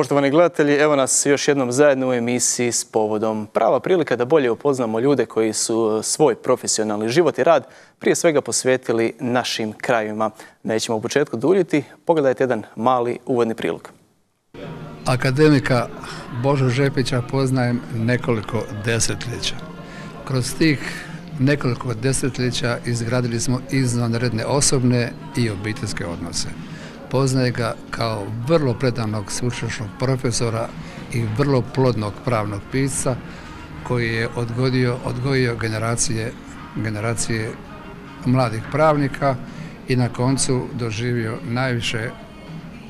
Poštovani gledatelji, evo nas još jednom zajedno u emisiji s povodom. Prava prilika da bolje upoznamo ljude koji su svoj profesionalni život i rad prije svega posvetili našim krajevima. Nećemo u početku duljiti, pogledajte jedan mali uvodni prilog. Akademika Božu Žepića poznajem nekoliko desetljeća. Kroz tih nekoliko desetljeća izgradili smo izvanredne osobne i obiteljske odnose. Poznaje ga kao vrlo predanog sveučilišnog profesora i vrlo plodnog pravnog pisca koji je odgojio generacije mladih pravnika i na koncu doživio najviše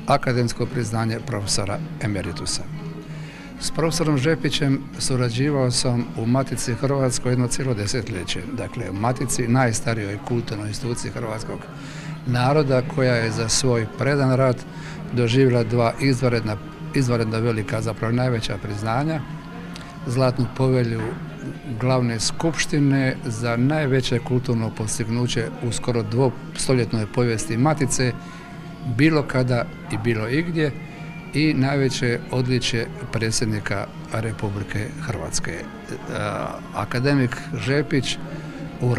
akademsko priznanje profesora emeritusa. S profesorom Žepićem surađivao sam u Matici Hrvatskoj jedno cijelo desetljeće, dakle u Matici, najstarijoj kulturnoj instituciji hrvatskog naroda, koja je za svoj predan rad doživjela dva izvanredna velika, zapravo najveća priznanja, Zlatnu povelju glavne skupštine za najveće kulturno postignuće u skoro dvostoljetnoj povijesti Matice, bilo kada i bilo igdje, i najveće odličje predsjednika Republike Hrvatske. Akademik Žepić u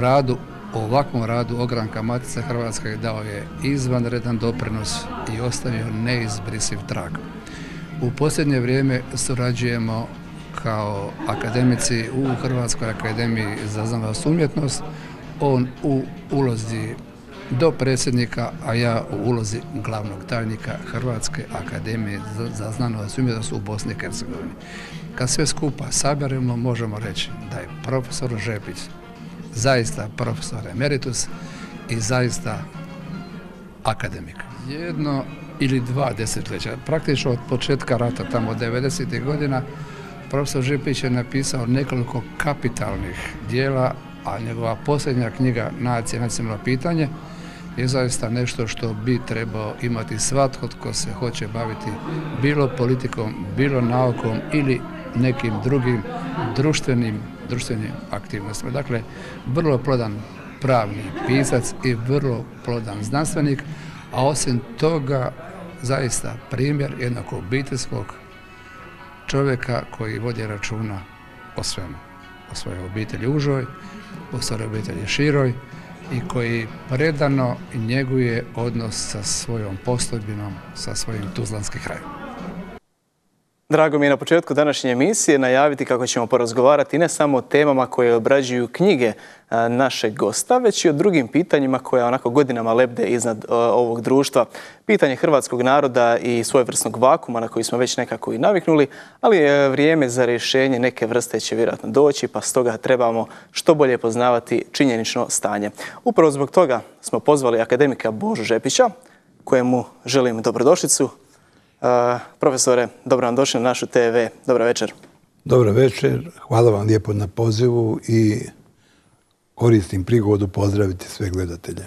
ovakvom radu ogranka Matice Hrvatske dao je izvanredan doprinos i ostavio neizbrisiv trag. U posljednje vrijeme surađujemo kao akademici u Hrvatskoj akademiji za znanost i umjetnost, on u ulozi dopredsjednika, a ja u ulozi glavnog tajnika Hrvatske akademije za znanost i umjetnost u Bosni i Hercegovini. Kad sve skupa saberemo, možemo reći da je profesor Žepić zaista profesor emeritus i zaista akademik. Jedno ili dva desetljeća, praktično od početka rata, tamo od 90. godina, profesor Žepić je napisao nekoliko kapitalnih dijela, a njegova posljednja knjiga Nacija i nacionalno pitanje je zaista nešto što bi trebao imati svatko tko se hoće baviti bilo politikom, bilo naukom ili nekim drugim društvenim aktivnostima. Dakle, vrlo plodan pravni pisac i vrlo plodan znanstvenik, a osim toga zaista primjer jednog obiteljskog čovjeka koji vodi računa o svemu. O svojoj obitelji užoj, o svojoj obitelji široj i koji predano njeguje odnos sa svojom postojbinom, sa svojim tuzlanskim krajem. Drago mi je na početku današnje emisije najaviti kako ćemo porazgovarati ne samo o temama koje obrađuju knjige našeg gosta, već i o drugim pitanjima koja onako godinama lebde iznad ovog društva. Pitanje hrvatskog naroda i svojevrsnog vakuma na koji smo već nekako i naviknuli, ali vrijeme za rješenje neke vrste će vjerojatno doći, pa stoga trebamo što bolje poznavati činjenično stanje. Upravo zbog toga smo pozvali akademika Božu Žepića, kojemu želim dobrodošlicu. Profesore, dobro vam došli na našu TV. Dobar večer. Dobro večer. Hvala vam lijepo na pozivu i koristim prigodu pozdraviti sve gledatelje.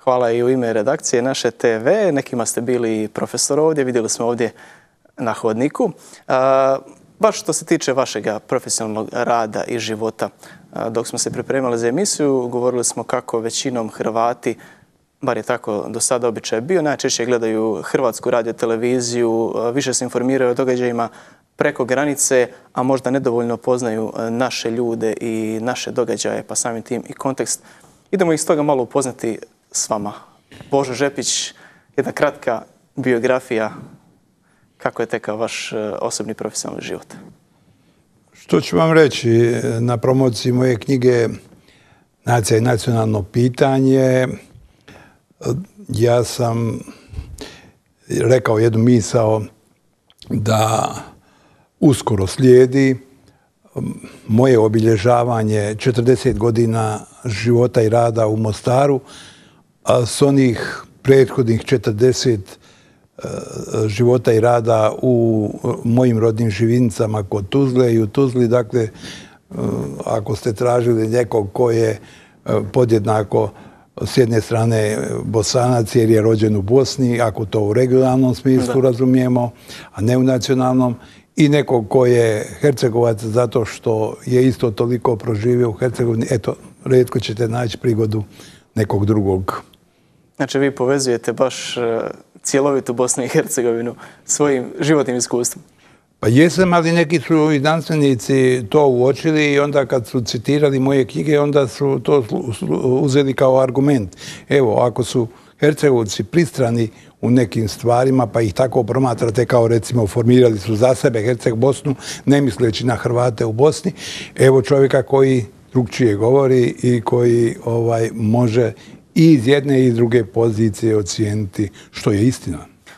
Hvala i u ime redakcije naše TV. Nekima ste bili profesor ovdje, vidjeli smo ovdje na hodniku. Baš što se tiče vašega profesionalnog rada i života, dok smo se pripremali za emisiju, govorili smo kako većinom Hrvati, bar je tako do sada običaj bio, najčešće gledaju Hrvatsku radioteleviziju, više se informiraju o događajima preko granice, a možda nedovoljno poznaju naše ljude i naše događaje, pa samim tim i kontekst. Idemo ih stoga malo upoznati s vama. Božo Žepić, jedna kratka biografija, kako je tekao vaš osobni profesionalni život? Što ću vam reći, na promociji moje knjige Nacija i nacionalno pitanje, ja sam rekao jednu misao da uskoro slijedi moje obilježavanje 40 godina života i rada u Mostaru, a s onih prethodnih 40 života i rada u mojim rodnim Živinicama kod Tuzle i u Tuzli. Dakle, ako ste tražili nekog ko je podjednako s jedne strane Bosanac jer je rođen u Bosni, ako to u regionalnom smislu razumijemo, a ne u nacionalnom, i nekog ko je Hercegovac zato što je isto toliko proživio u Hercegovini. Eto, rijetko ćete naći prigodu nekog drugog Znači vi povezujete baš cjelovitu Bosnu i Hercegovinu svojim životnim iskustvom. Pa jesam, ali neki su i znanstvenici to uočili i onda kad su citirali moje knjige, onda su to uzeli kao argument. Evo, ako su Hercegovci pristrani u nekim stvarima, pa ih tako promatrate kao recimo formirali su za sebe Herceg-Bosnu, ne misleći na Hrvate u Bosni, evo čovjeka koji drugčije govori i koji može i iz jedne i iz druge pozicije ocijeniti što je istina.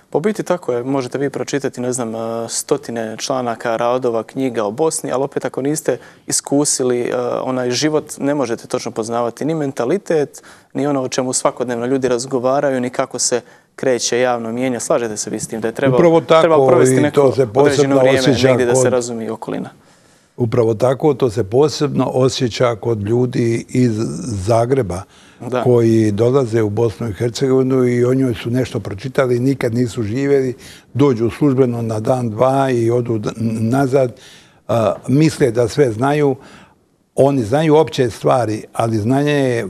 Po biti tako je, možete vi pročitati, ne znam, stotine članaka, radova, knjiga o Bosni, ali opet ako niste iskusili onaj život, ne možete točno poznavati ni mentalitet, ni ono o čemu svakodnevno ljudi razgovaraju, ni kako se kreće javno mijenje. Slažete se vi s tim da je trebalo provesti neko određeno vrijeme negdje da se razumije okolina? Upravo tako, to se posebno osjeća kod ljudi iz Zagreba koji dolaze u Bosnu i Hercegovinu i o njoj su nešto pročitali, nikad nisu živjeli, dođu službeno na dan, dva i odu nazad, misle da sve znaju. Oni znaju opće stvari, ali znanje je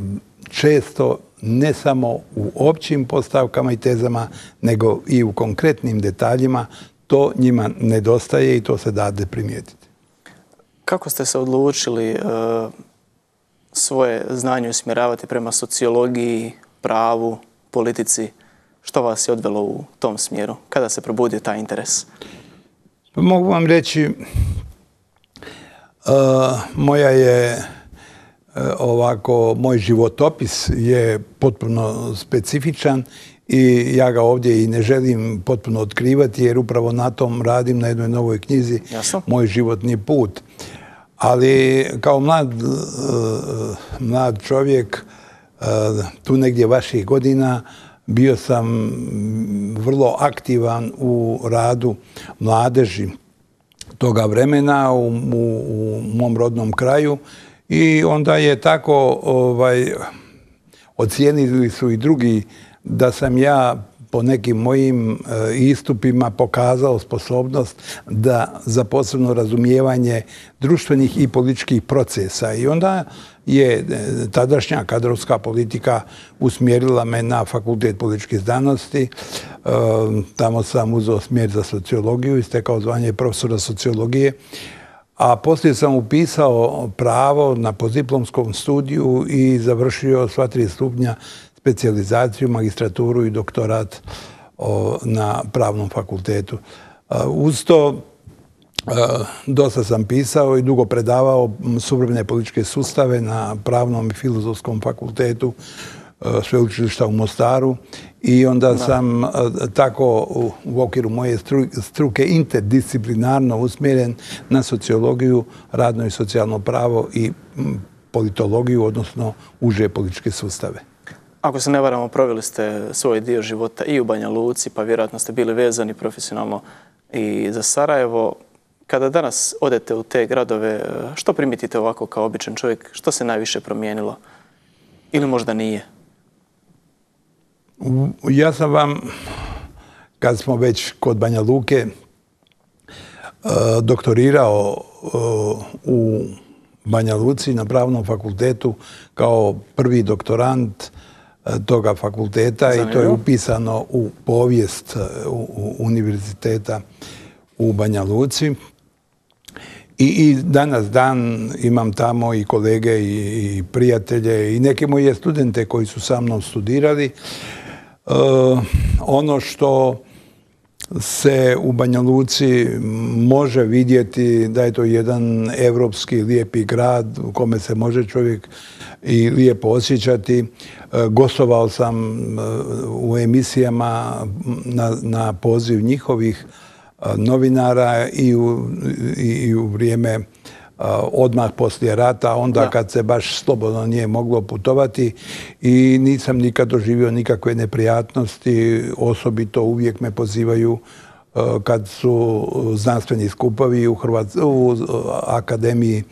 često ne samo u općim postavkama i tezama, nego i u konkretnim detaljima. To njima nedostaje i to se dade primijetiti. Kako ste se odlučili svoje znanje usmjeravati prema sociologiji, pravu, politici? Što vas je odvelo u tom smjeru? Kada se probudio taj interes? Mogu vam reći, moj životopis je potpuno specifičan i ja ga ovdje i ne želim potpuno otkrivati jer upravo na tom radim na jednoj novoj knjizi. Jasno. Moj životni put. Ali kao mlad čovjek, tu negdje vaših godina, bio sam vrlo aktivan u radu mladeži toga vremena u mom rodnom kraju i onda je tako ocijenili su i drugi da sam ja po nekim mojim istupima pokazao sposobnost za posebno razumijevanje društvenih i političkih procesa. I onda je tadašnja kadrovska politika usmjerila me na Fakultet političkih znanosti. Tamo sam uzeo smjer za sociologiju i stekao zvanje profesora sociologije. A poslije sam upisao pravo na postdiplomskom studiju i završio sva 3 stupnja specijalizaciju, magistraturu i doktorat na pravnom fakultetu. Uz to dosta sam pisao i dugo predavao suvremene političke sustave na pravnom i filozofskom fakultetu sveučilišta u Mostaru i onda sam tako u okviru moje struke interdisciplinarno usmjeren na sociologiju, radno i socijalno pravo i politologiju, odnosno uže političke sustave. Ako se ne varamo, proveli ste svoj dio života i u Banja Luci, pa vjerojatno ste bili vezani profesionalno i za Sarajevo. Kada danas odete u te gradove, što primijetite ovako kao običan čovjek? Što se najviše promijenilo? Ili možda nije? Ja sam vam, kad smo već kod Banja Luke, doktorirao u Banja Luci na pravnom fakultetu kao prvi doktorant toga fakulteta. Zanimljivo. I to je upisano u povijest univerziteta u Banja Luci. I danas dan imam tamo i kolege i prijatelje i neke moje studente koji su sa mnom studirali. Ono što se u Banja Luci može vidjeti da je to jedan evropski lijepi grad u kome se može čovjek i lijepo osjećati. Gostovao sam u emisijama na poziv njihovih novinara i u vrijeme odmah poslije rata, onda kad se baš slobodno nije moglo putovati i nisam nikad doživio nikakve neprijatnosti. Osobito uvijek me pozivaju kad su znanstveni skupovi u Akademiji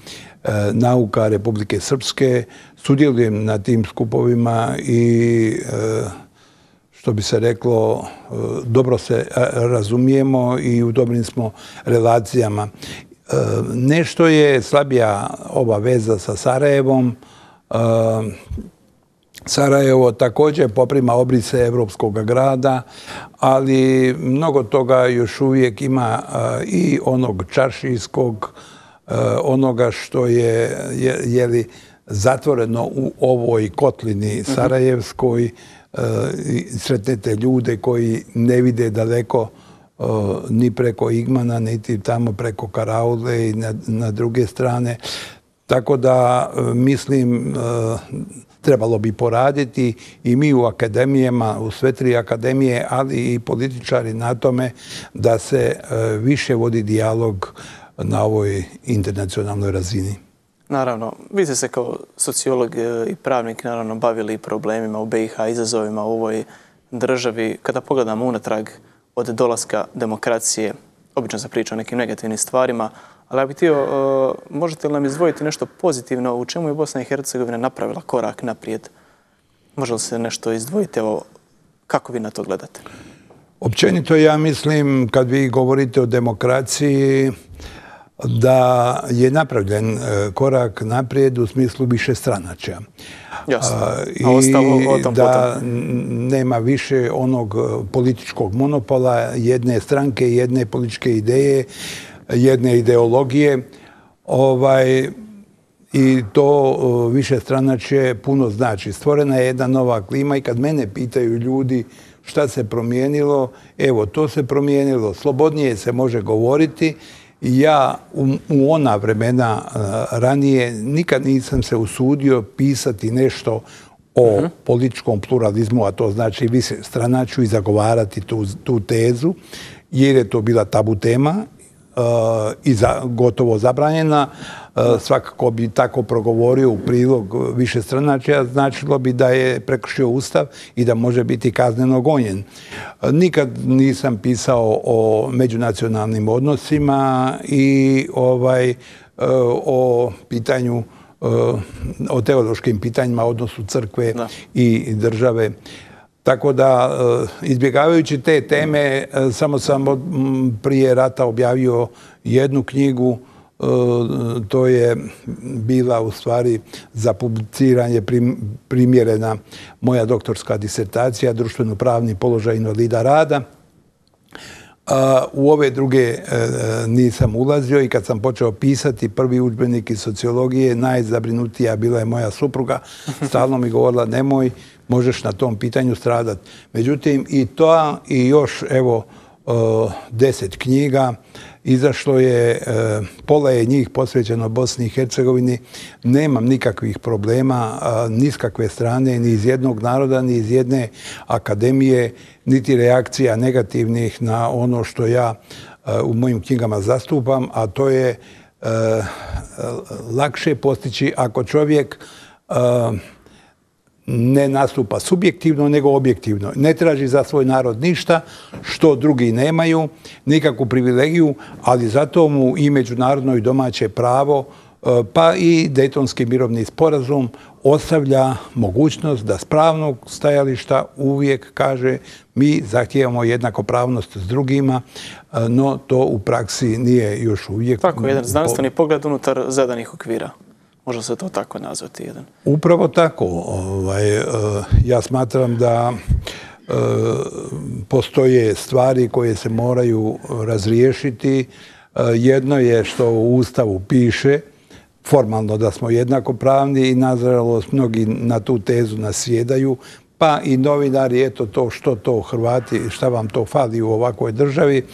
nauka Republike Srpske. Sudjelujem na tim skupovima i što bi se reklo, dobro se razumijemo i u dobrim smo relacijama. Nešto je slabija ova veza sa Sarajevom. Sarajevo također poprima obrise evropskog grada, ali mnogo toga još uvijek ima i onog čaršijskog, onoga što je zatvoreno u ovoj kotlini sarajevskoj. Sretnete ljude koji ne vide daleko ni preko Igmana, niti tamo preko Karaule i na druge strane. Tako da mislim trebalo bi poraditi i mi u akademijama, u sve 3 akademije, ali i političari na tome da se više vodi dijalog na ovoj internacionalnoj razini. Naravno, vi ste se kao sociolog i pravnik naravno bavili problemima u BiH, izazovima u ovoj državi. Kada pogledamo unatrag od dolaska demokracije, obično se priča o nekim negativnim stvarima, ali ja bih htio, možete li nam izdvojiti nešto pozitivno u čemu je Bosna i Hercegovina napravila korak naprijed? Može li se nešto izdvojiti? Evo, kako vi na to gledate? Općenito ja mislim, kad vi govorite o demokraciji, da je napravljen korak naprijed u smislu višestranačja. Jasno. A ostalo o tom da nema više onog političkog monopola, jedne stranke, jedne političke ideje, jedne ideologije. I to višestranačje puno znači. Stvorena je jedna nova klima i kad mene pitaju ljudi šta se promijenilo, evo, to se promijenilo. Slobodnije se može govoriti. Ja u ona vremena ranije nikad nisam se usudio pisati nešto o političkom pluralizmu, a to znači višestranačju i zagovarati tu tezu, jer je to bila tabu tema i gotovo zabranjena. Svakako bi tako progovorio u prilog višestranačja, značilo bi da je prekršio Ustav i da može biti kazneno gonjen. Nikad nisam pisao o međunacionalnim odnosima i o pitanju, o teološkim pitanjima, odnosu crkve i države. Tako da, izbjegavajući te teme, samo sam prije rata objavio jednu knjigu. To je bila u stvari za publiciranje primjerena moja doktorska disertacija, društveno-pravni položaj invalida rada. U ove druge nisam ulazio i kad sam počeo pisati prvi udžbenik iz sociologije, najzabrinutija bila je moja supruga. Stalno mi govorila, nemoj, možeš na tom pitanju stradati. Međutim, i to i još, evo, 10 knjiga. Izašlo je, pola je njih posvećeno Bosni i Hercegovini. Nemam nikakvih problema, ni s kakve strane, ni iz jednog naroda, ni iz jedne akademije, niti reakcija negativnih na ono što ja u mojim knjigama zastupam, a to je lakše postići ako čovjek ne nastupa subjektivno, nego objektivno. Ne traži za svoj narod ništa što drugi nemaju, nikakvu privilegiju, ali zato mu i međunarodno i domaće pravo, pa i Dejtonski mirovni sporazum ostavlja mogućnost da s pravnog stajališta uvijek kaže mi zahtijevamo jednakopravnost s drugima, no to u praksi nije još uvijek. Tako, jedan znanstveni pogled unutar zadanih okvira. Može se to tako nazvati jedan. Upravo tako. Ja smatram da postoje stvari koje se moraju razriješiti. Jedno je što u Ustavu piše, formalno da smo jednakopravni i nažalost mnogi na tu tezu nasjedaju, pa i novinari, eto to, što to Hrvati, šta vam to fali u ovakvoj državi.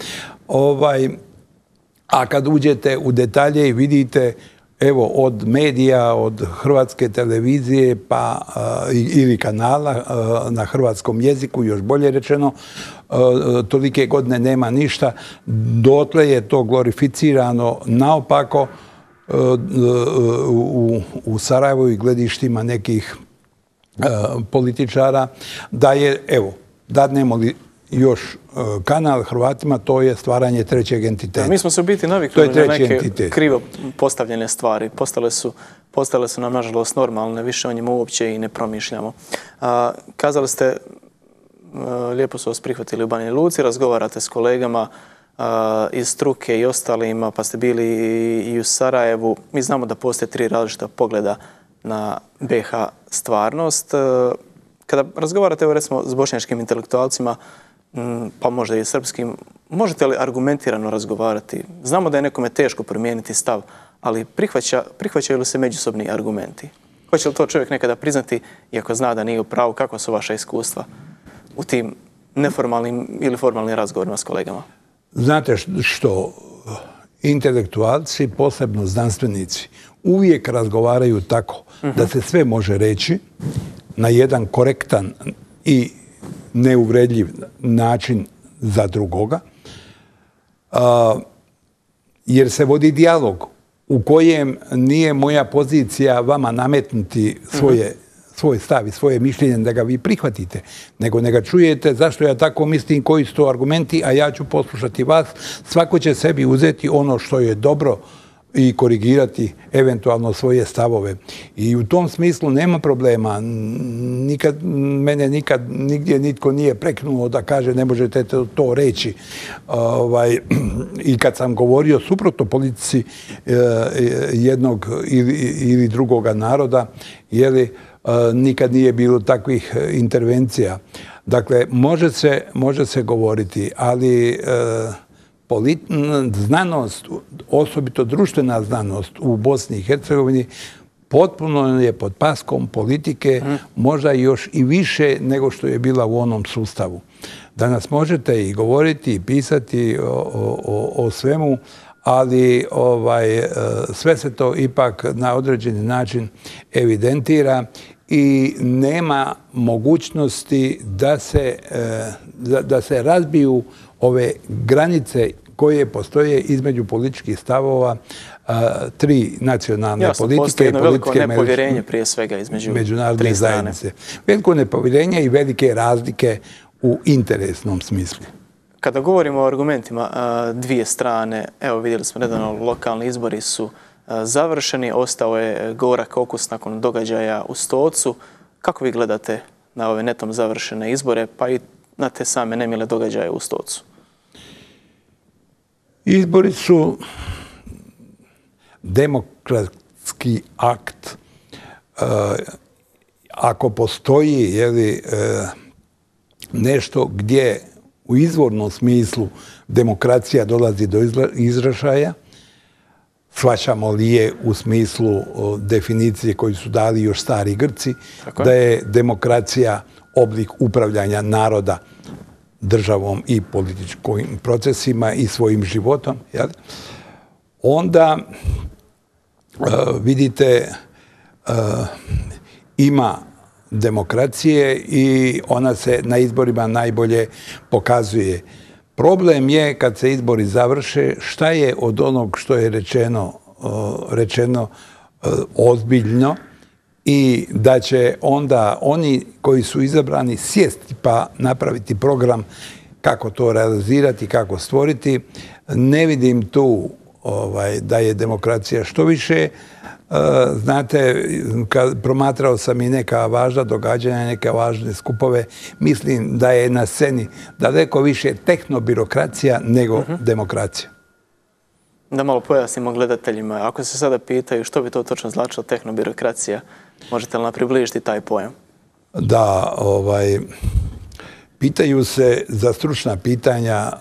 A kad uđete u detalje i vidite, evo, od medija, od Hrvatske televizije pa ili kanala na hrvatskom jeziku, još bolje rečeno, tolike godine nema ništa. Dotle je to glorificirano naopako u Sarajevu i gledištima nekih političara, da je, evo, dadnemo li još kanal Hrvatima, to je stvaranje trećeg entiteta. Mi smo se u biti navikli na neke krivo postavljene stvari. Postale su nam, nažalost, normalne. Više o njima uopće i ne promišljamo. Kazali ste, lijepo su vas prihvatili u Banja Luci, razgovarate s kolegama iz struke i ostalima, pa ste bili i u Sarajevu. Mi znamo da postoje 3 različita pogleda na BiH stvarnost. Kada razgovarate, evo recimo, s bošnjačkim intelektualcima, pa možda i srpskim, možete li argumentirano razgovarati? Znamo da je nekome teško promijeniti stav, ali prihvaćaju li se međusobni argumenti? Hoće li to čovjek nekada priznati, iako zna da nije u pravu? Kakva su vaša iskustva u tim neformalnim ili formalnim razgovorima s kolegama? Znate što, intelektualci, posebno znanstvenici, uvijek razgovaraju tako da se sve može reći na jedan korektan i neuvredljiv način za drugoga, jer se vodi dijalog u kojem nije moja pozicija vama nametnuti svoj stav i svoje mišljenje da ga vi prihvatite, nego ne ga čujete zašto ja tako mislim, koji su to argumenti, a ja ću poslušati vas. Svako će sebi uzeti ono što je dobro i korigirati eventualno svoje stavove. I u tom smislu nema problema. Mene nikad nigdje nitko nije preknuo da kaže ne možete to reći. I kad sam govorio suprotno politici jednog ili drugoga naroda, nikad nije bilo takvih intervencija. Dakle, može se govoriti, ali znanost, osobito društvena znanost u Bosni i Hercegovini, potpuno je pod paskom politike, možda još i više nego što je bila u onom sustavu. Danas možete i govoriti i pisati o svemu, ali sve se to ipak na određeni način evidentira i nema mogućnosti da se razbiju ove granice koje postoje između političkih stavova tri nacionalne politike. Postoji jedno veliko nepovjerenje prije svega između tri strane. Veliko nepovjerenje i velike razlike u interesnom smislu. Kada govorimo o argumentima dvije strane, evo vidjeli smo nedavno lokalni izbori su završeni, ostao je gorak okus nakon događaja u Stocu. Kako vi gledate na ove netom završene izbore, pa i na te same nemile događaje u Stocu? Izbori su demokratski akt. Ako postoji nešto gdje u izvornom smislu demokracija dolazi do izražaja, shvaćamo li je u smislu definicije koju su dali još stari Grci, da je demokracija oblik upravljanja naroda državom i političkim procesima i svojim životom, onda vidite ima demokracije i ona se na izborima najbolje pokazuje. Problem je kad se izbori završe, šta je od onog što je rečeno ozbiljno i da će onda oni koji su izabrani sjesti pa napraviti program kako to realizirati, kako stvoriti. Ne vidim tu da je demokracija što više. Znate, promatrao sam i neka važna događanja, neke važne skupove. Mislim da je na sceni daleko više tehnobirokracija nego demokracija. Da malo pojasnimo gledateljima. Ako se sada pitaju što bi to točno značilo tehnobirokracija, možete li nam približiti taj pojam? Da, pitaju se za stručna pitanja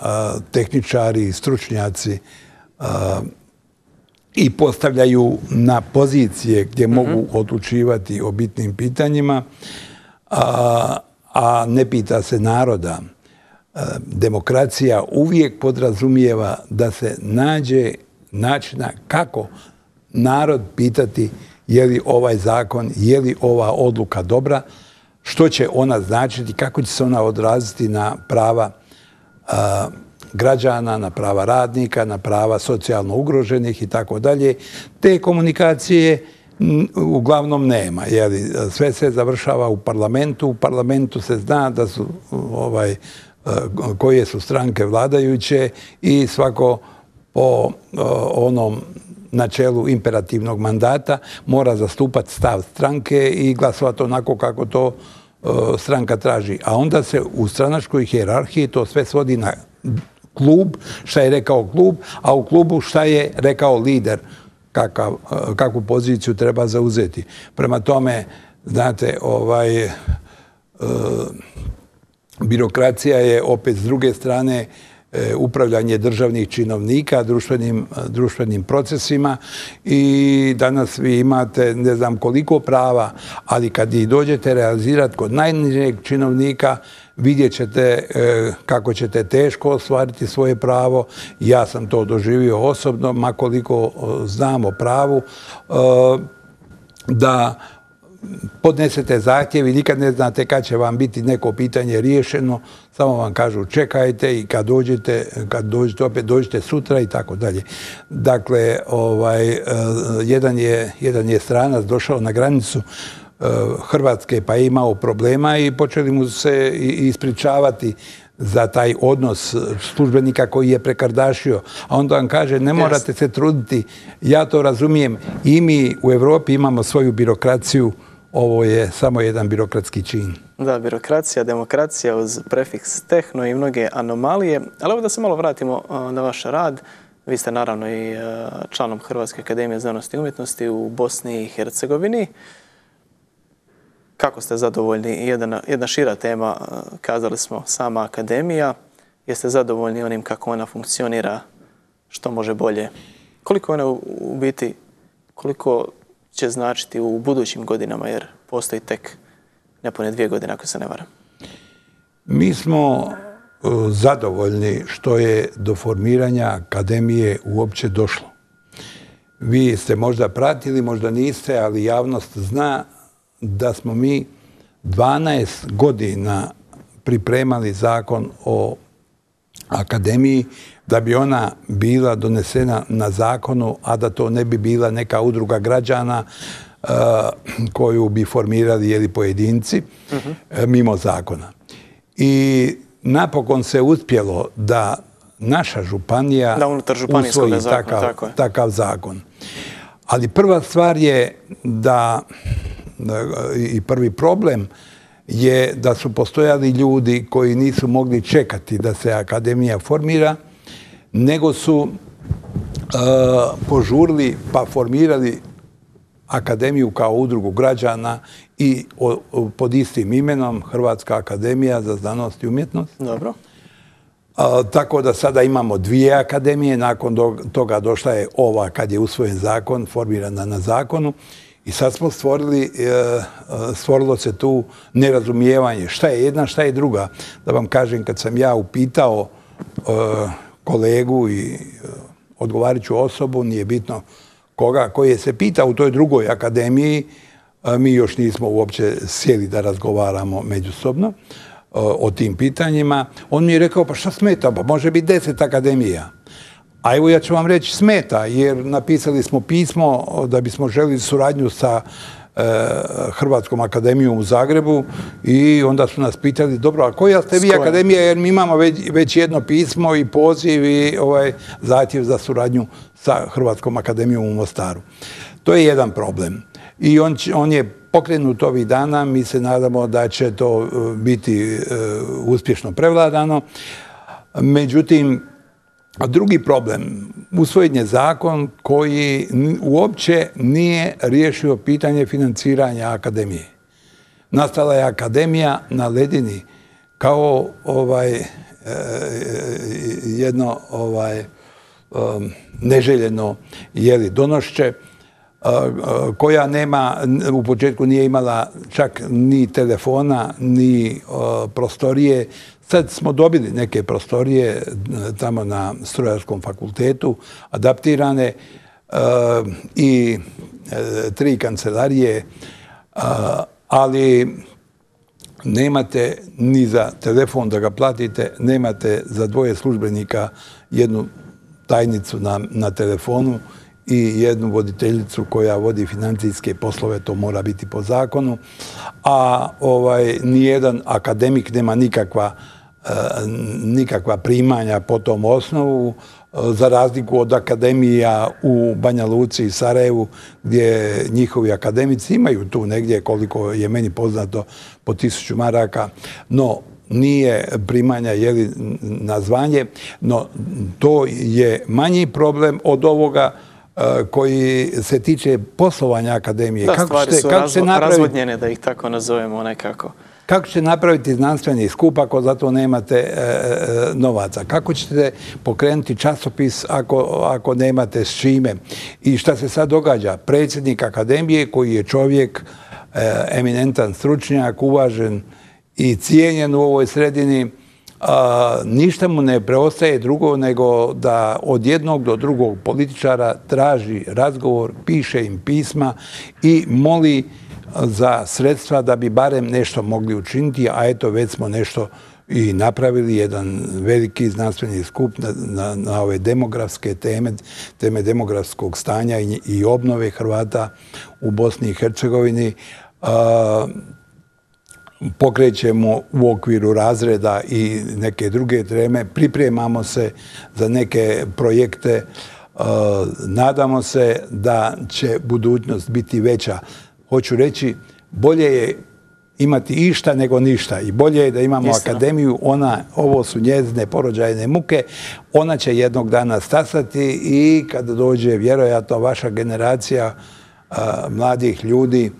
tehničari i stručnjaci i postavljaju na pozicije gdje mogu odlučivati o bitnim pitanjima, a ne pita se naroda. Demokracija uvijek podrazumijeva da se nađe načina kako narod pitati je li ovaj zakon, je li ova odluka dobra, što će ona značiti, kako će se ona odraziti na prava građana, na prava radnika, na prava socijalno ugroženih i tako dalje. Te komunikacije uglavnom nema. Sve se završava u parlamentu. U parlamentu se zna da su koje su stranke vladajuće i svako po onom načelu imperativnog mandata mora zastupati stav stranke i glasovati onako kako to stranka traži. A onda se u stranačkoj hijerarhiji to sve svodi na klub, šta je rekao klub, a u klubu šta je rekao lider, kakvu poziciju treba zauzeti. Prema tome, Znate, birokracija je opet s druge strane upravljanje državnih činovnika, društvenim procesima i danas vi imate ne znam koliko prava, ali kad ih dođete realizirati kod najnižeg činovnika, vidjet ćete kako ćete teško ostvariti svoje pravo. Ja sam to doživio osobno, makoliko znam o pravu, da podnesete zahtjev i nikad ne znate kad će vam biti neko pitanje riješeno, samo vam kažu čekajte i kad dođete opet dođete sutra i tako dalje. Dakle, jedan je stranac došao na granicu Hrvatske pa je imao problema i počeli mu se ispričavati za taj odnos službenika koji je prekardašio. A onda vam kaže, ne morate se truditi, ja to razumijem. I mi u Europi imamo svoju birokraciju, ovo je samo jedan birokratski čin. Da, birokracija, demokracija uz prefiks tehno i mnoge anomalije. Ali evo da se malo vratimo na vaš rad. Vi ste naravno i članom Hrvatske akademije znanosti i umjetnosti u Bosni i Hercegovini. Kako ste zadovoljni? Jedna šira tema, kazali smo, sama akademija. Jeste zadovoljni onim kako ona funkcionira, što može bolje? Koliko ona u biti, koliko će značiti u budućim godinama, jer postoji tek nepune 2 godine, ako se ne varam? Mi smo zadovoljni što je do formiranja akademije uopće došlo. Vi ste možda pratili, možda niste, ali javnost zna da smo mi 12 godina pripremali zakon o akademiji da bi ona bila donesena na zakonu, a da to ne bi bila neka udruga građana koju bi formirali pojedinci mimo zakona. I napokon se uspjelo da naša županija usvoji takav zakon. Ali prva stvar je da i prvi problem je da su postojali ljudi koji nisu mogli čekati da se akademija formira, nego su požurili pa formirali akademiju kao udrugu građana i pod istim imenom Hrvatska akademija za znanost i umjetnost. Dobro. Tako da sada imamo 2 akademije, nakon toga došla je ova kad je usvojen zakon, formirana na zakonu. I sad smo stvorilo se tu nerazumijevanje. Šta je jedna, šta je druga? Da vam kažem, kad sam ja upitao kolegu i odgovarajuću osobu, nije bitno koga, koji je se pitao u toj drugoj akademiji, mi još nismo uopće sjeli da razgovaramo međusobno o tim pitanjima. On mi je rekao, pa šta smeta? Pa može biti 10 akademija. A evo ja ću vam reći smeta, jer napisali smo pismo da bismo želili suradnju sa Hrvatskom akademijom u Zagrebu i onda su nas pitali, dobro, a koja ste vi akademija, jer mi imamo već jedno pismo i poziv i zahtjev za suradnju sa Hrvatskom akademijom u Mostaru. To je jedan problem. I on je pokrenut ovih dana, mi se nadamo da će to biti uspješno prevladano. Međutim, drugi problem, usvojen je zakon koji uopće nije riješio pitanje financiranja akademije. Nastala je akademija na ledini kao jedno neželjeno donošće, koja nema, u početku nije imala čak ni telefona, ni prostorije. Sad smo dobili neke prostorije tamo na Strojarskom fakultetu, adaptirane i 3 kancelarije, ali nemate ni za telefon da ga platite, nemate za 2 službenika jednu tajnicu na telefonu i jednu voditeljicu koja vodi financijske poslove, to mora biti po zakonu, a nijedan akademik nema nikakva primanja po tom osnovu, za razliku od akademija u Banja Luci i Sarajevu, gdje njihovi akademici imaju tu negdje, koliko je meni poznato, po 1000 maraka, no nije primanja na zvanje, no to je manji problem od ovoga koji se tiče poslovanja akademije. Da, stvari su razvodnjene, da ih tako nazovemo nekako. Kako ćete napraviti znanstveni skup ako za to nemate novaca? Kako ćete pokrenuti časopis ako nemate s čime? I šta se sad događa? Predsjednik akademije koji je čovjek, eminentan stručnjak, uvažen i cijenjen u ovoj sredini, ništa mu ne preostaje drugo nego da od jednog do drugog političara traži razgovor, piše im pisma i moli za sredstva da bi barem nešto mogli učiniti, a eto već smo nešto i napravili, jedan veliki znanstveni skup na ove demografske teme demografskog stanja i obnove Hrvata u Bosni i Hercegovini. Pokrećemo u okviru razreda i neke druge teme, pripremamo se za neke projekte, nadamo se da će budućnost biti veća. Hoću reći, bolje je imati išta nego ništa i bolje je da imamo akademiju, ovo su njezine porođajne muke, ona će jednog dana stasati i kada dođe vjerojatno vaša generacija mladih ljudi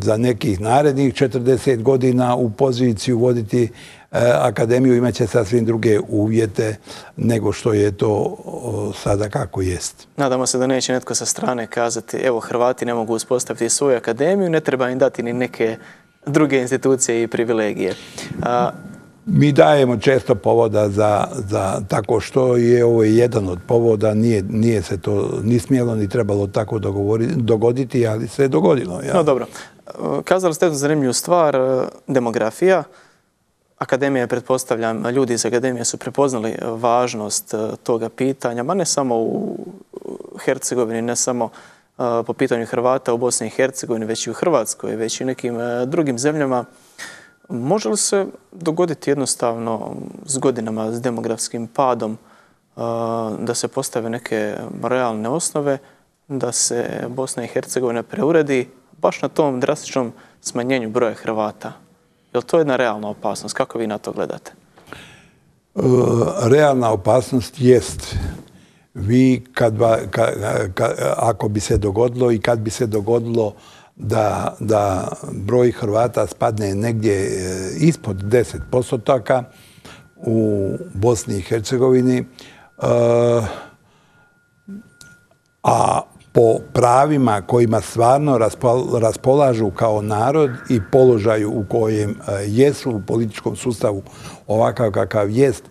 za nekih narednih 40 godina u poziciju voditi akademiju, imat će sasvim druge uvjete nego što je to sada kako jest. Nadamo se da neće netko sa strane kazati evo Hrvati ne mogu uspostaviti svoju akademiju, ne treba im dati ni neke druge institucije i privilegije. Mi dajemo često povoda za tako što je ovo jedan od povoda, nije se to ni smjelo ni trebalo tako dogoditi, ali se je dogodilo. Ja. No dobro, kazali ste jednu zanimljivu stvar, demografija. Akademija, pretpostavljam, ljudi iz akademije su prepoznali važnost toga pitanja, ma ne samo u Hercegovini, ne samo po pitanju Hrvata u Bosni i Hercegovini, već i u Hrvatskoj, već i nekim drugim zemljama. Može li se dogoditi jednostavno s godinama, s demografskim padom, da se postave neke realne osnove, da se Bosna i Hercegovina preuredi baš na tom drastičnom smanjenju broja Hrvata? Je li to jedna realna opasnost? Kako vi na to gledate? Realna opasnost jest. Vi, ako bi se dogodilo i kad bi se dogodilo da broj Hrvata spadne negdje ispod 10% u Bosni i Hercegovini, a po pravima kojima stvarno raspolažu kao narod i položaju u kojem jesu u političkom sustavu ovakav kakav jest,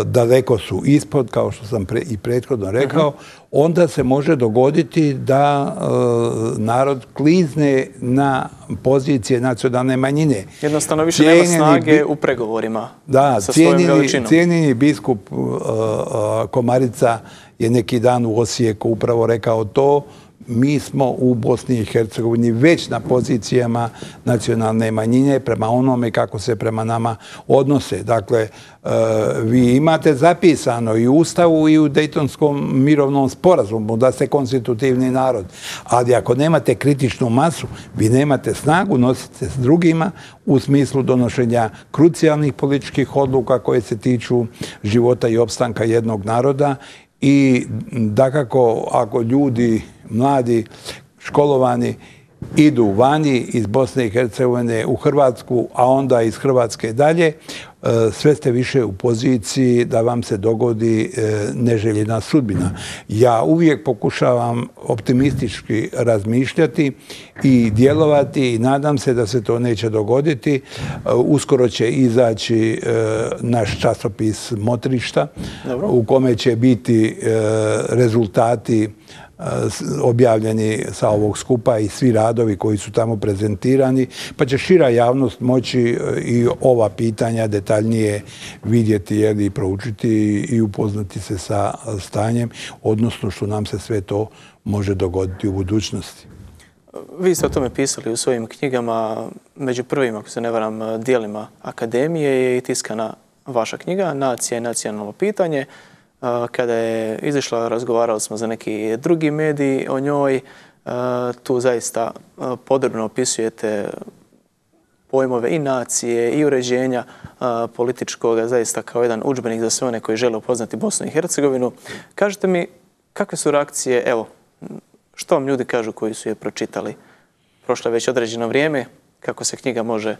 daleko su ispod, kao što sam i prethodno rekao, onda se može dogoditi da narod klizne na pozicije nacionalne manjine. Jednostavno više nema snage u pregovorima sa svojom veličinom. Cijenjeni biskup Komarica je neki dan u Osijeku upravo rekao to. Mi smo u Bosni i Hercegovini već na pozicijama nacionalne manjine prema onome kako se prema nama odnose. Dakle, vi imate zapisano i u Ustavu i u Dejtonskom mirovnom sporazumu da ste konstitutivni narod. Ali ako nemate kritičnu masu, vi nemate snagu nositi se s drugima u smislu donošenja krucijalnih političkih odluka koje se tiču života i opstanka jednog naroda. I dakako, ako ljudi, mladi, školovani, idu vani iz Bosne i Hercegovine u Hrvatsku, a onda iz Hrvatske dalje, sve ste više u poziciji da vam se dogodi neželjena sudbina. Ja uvijek pokušavam optimistički razmišljati i djelovati i nadam se da se to neće dogoditi. Uskoro će izaći naš časopis Motrišta u kome će biti rezultati objavljeni sa ovog skupa i svi radovi koji su tamo prezentirani, pa će šira javnost moći i ova pitanja detaljnije vidjeti i proučiti i upoznati se sa stanjem, odnosno što nam se sve to može dogoditi u budućnosti. Vi ste o tome pisali u svojim knjigama, među prvim, ako se ne varam, dijelima akademije je i tiskana vaša knjiga Nacija i nacionalno pitanje. Kada je izišla, razgovarali smo za neki drugi medij o njoj. Tu zaista podrobno opisujete pojmove i nacije i uređenja političkoga, zaista kao jedan udžbenik za sve one koji žele upoznati Bosnu i Hercegovinu. Kažete mi, kakve su reakcije, evo, što vam ljudi kažu koji su je pročitali? Prošlo je već određeno vrijeme, kako se knjiga može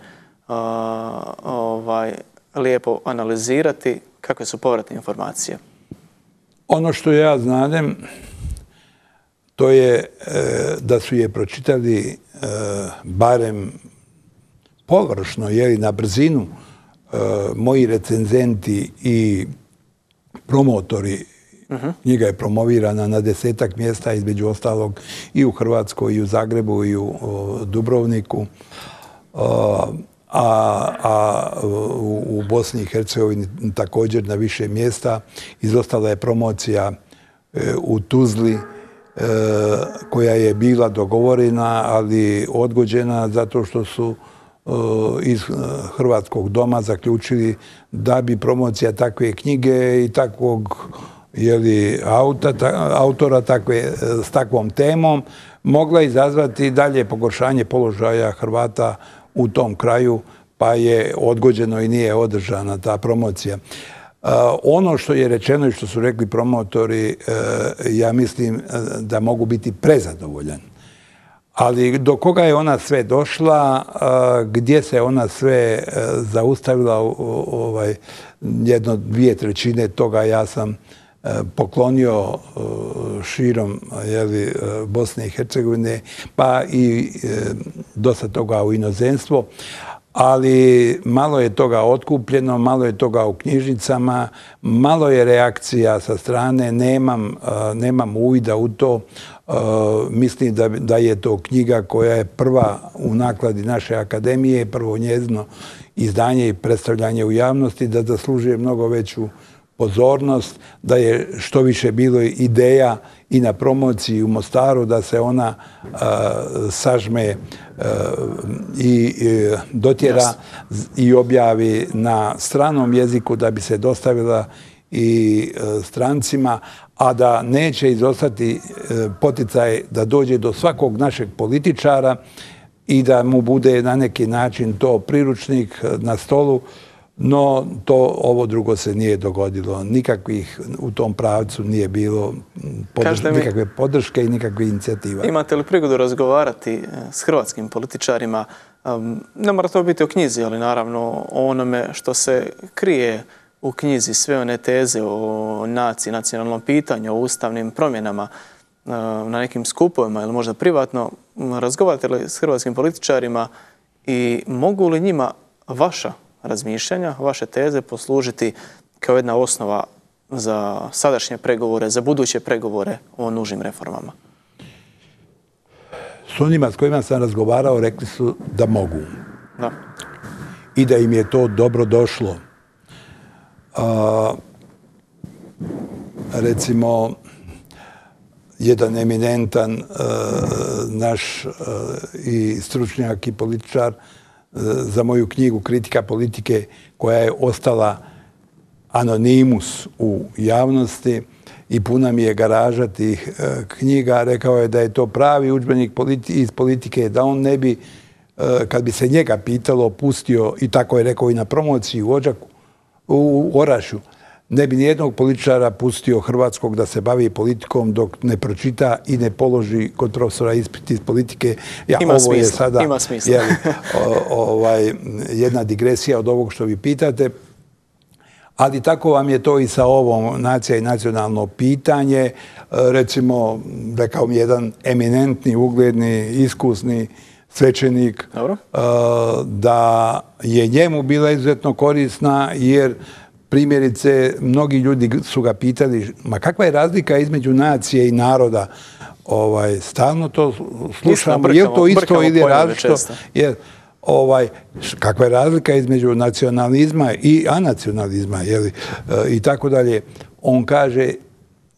lijepo analizirati, kakve su povratne informacije? Ono što ja znadem, to je da su je pročitali barem površno, na brzinu, moji recenzenti i promotori. Knjiga je promovirana na 10-ak mjesta, između ostalog i u Hrvatskoj, i u Zagrebu, i u Dubrovniku. A u Bosni i Hercegovini također na više mjesta. Izostala je promocija u Tuzli, koja je bila dogovorena, ali odgođena zato što su iz Hrvatskog doma zaključili da bi promocija takve knjige i takvog autora s takvom temom mogla izazvati dalje pogoršanje položaja Hrvata u tom kraju, pa je odgođeno i nije održana ta promocija. Ono što je rečeno i što su rekli promotori, ja mislim da mogu biti prezadovoljan. Ali do koga je ona sve došla, gdje se ona sve zaustavila, 1/2 toga ja sam poklonio širom Bosne i Hercegovine, pa i dosta toga u inozemstvo. Ali malo je toga otkupljeno, malo je toga u knjižnicama, malo je reakcija sa strane, nemam uvida u to. Mislim da je to knjiga koja je prva u nakladi naše akademije, prvo njezino izdanje i predstavljanje u javnosti, da zaslužuje mnogo veću pozornost, da je što više bilo ideja i na promociji u Mostaru, da se ona sažme i dotjera i objavi na stranom jeziku, da bi se dostavila i strancima, a da neće izostati poticaj da dođe do svakog našeg političara i da mu bude na neki način to priručnik na stolu. No, ovo drugo se nije dogodilo. Nikakvih u tom pravcu nije bilo nikakve podrške i nikakve inicijativa. Imate li prigodu razgovarati s hrvatskim političarima? Ne mora to biti o knjizi, ali naravno o onome što se krije u knjizi, sve one teze o naciji, nacionalnom pitanju, o ustavnim promjenama na nekim skupovima ili možda privatno. Razgovarate li s hrvatskim političarima i mogu li njima vaša razmišljanja, vaše teze poslužiti kao jedna osnova za sadašnje pregovore, za buduće pregovore o nužnim reformama? S onima s kojima sam razgovarao rekli su da mogu. Da. I da im je to dobro došlo. Recimo, jedan eminentan naš i stručnjak i političar za moju knjigu Kritika politike, koja je ostala anonimus u javnosti i puna mi je garaža tih knjiga, rekao je da je to pravi udžbenik iz politike, da on ne bi, kad bi se njega pitalo, pustio, i tako je rekao i na promociji u Orašju, ne bi nijednog političara pustio hrvatskog da se bavi politikom dok ne pročita i ne položi kod profesora ispit iz politike. Ima smisla. Jedna digresija od ovog što vi pitate. Ali tako vam je to i sa ovom nacija i nacionalno pitanje. Recimo, rekao mi jedan eminentni, ugledni, iskusni svećenik da je njemu bila izuzetno korisna, jer primjerice, mnogi ljudi su ga pitali, ma kakva je razlika između nacije i naroda? Stalno to slušamo, je li to isto ili različito? Kakva je razlika između nacionalizma i anacionalizma i tako dalje. On kaže,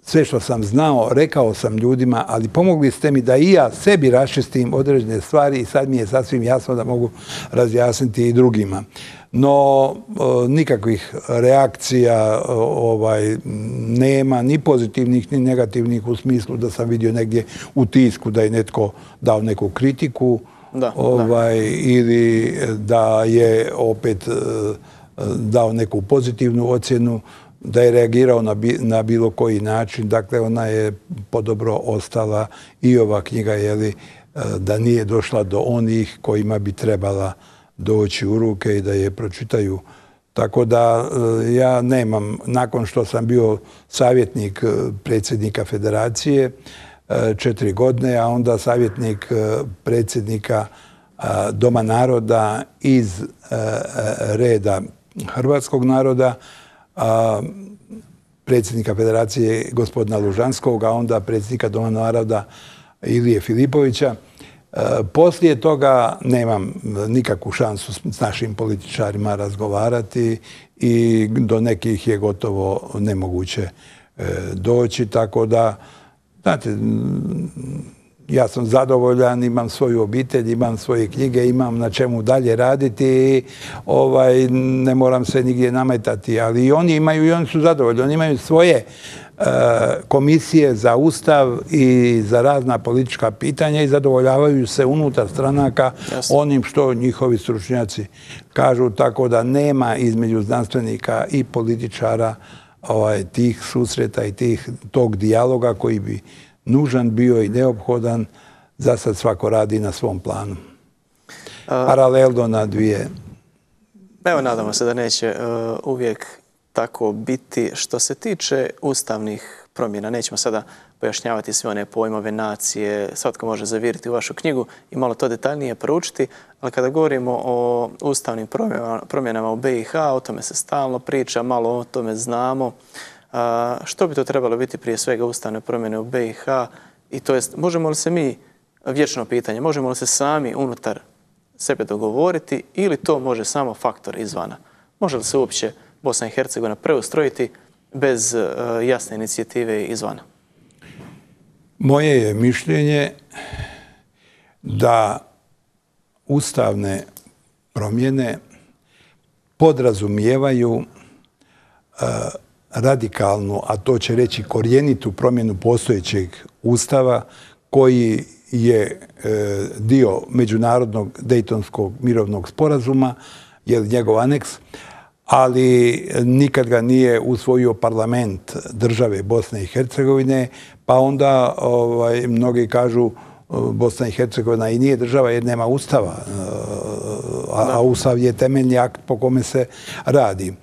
sve što sam znao, rekao sam ljudima, ali pomogli ste mi da i ja sebi raščistim određene stvari i sad mi je sasvim jasno da mogu razjasniti i drugima. No, nikakvih reakcija nema, ni pozitivnih, ni negativnih, u smislu da sam vidio negdje u tisku da je netko dao neku kritiku ili da je opet dao neku pozitivnu ocjenu. da je reagirao na bilo koji način. Dakle, ona je podobro ostala i ova knjiga, da nije došla do onih kojima bi trebala doći u ruke i da je pročitaju. Tako da ja nemam, nakon što sam bio savjetnik predsjednika Federacije 4 godine, a onda savjetnik predsjednika Doma naroda iz reda hrvatskog naroda, predsjednika Federacije gospodina Lužanskog, a onda predsjednika Doma naroda Ilije Filipovića. Poslije toga nemam nikakvu šansu s našim političarima razgovarati i do nekih je gotovo nemoguće doći. Tako da, znate, ja sam zadovoljan, imam svoju obitelj, imam svoje knjige, imam na čemu dalje raditi i ne moram se nigdje nametati. Ali i oni su zadovoljni, oni imaju svoje komisije za Ustav i za razna politička pitanja i zadovoljavaju se unutar stranaka onim što njihovi stručnjaci kažu, tako da nema između znanstvenika i političara tih susreta i tog dijaloga koji bi nužan bio i neophodan. Za sad svako radi na svom planu. Paralelno na dvije. Evo, nadamo se da neće uvijek tako biti. Što se tiče ustavnih promjena, nećemo sada pojašnjavati sve one pojmove nacije, svatko može zaviriti u vašu knjigu i malo to detaljnije proučiti, ali kada govorimo o ustavnim promjenama u BiH, o tome se stalno priča, malo o tome znamo. Što bi to trebalo biti prije svega ustavne promjene u BiH? I to jest, možemo li se mi, vječno pitanje, možemo li se sami unutar sebe dogovoriti ili to može samo faktor izvana? Može li se uopće Bosna i Hercegovina preustrojiti bez jasne inicijative izvana? Moje je mišljenje da ustavne promjene podrazumijevaju radikalnu, a to će reći korjenitu promjenu postojećeg Ustava koji je dio međunarodnog Dejtonskog mirovnog sporazuma, je njegov aneks, ali nikad ga nije usvojio parlament države Bosne i Hercegovine, pa onda mnogi kažu Bosna i Hercegovina i nije država jer nema Ustava, a Ustav je temeljni akt po kome se radi.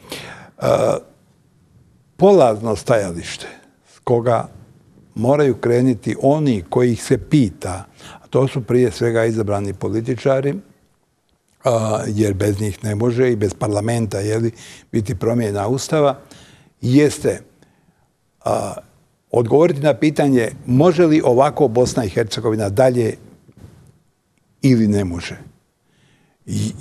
Polazno stajalište s koga moraju krenuti oni kojih se pita, a to su prije svega izabrani političari, jer bez njih ne može i bez parlamenta biti promjena Ustava, jeste odgovoriti na pitanje može li ovako Bosna i Hercegovina dalje ili ne može.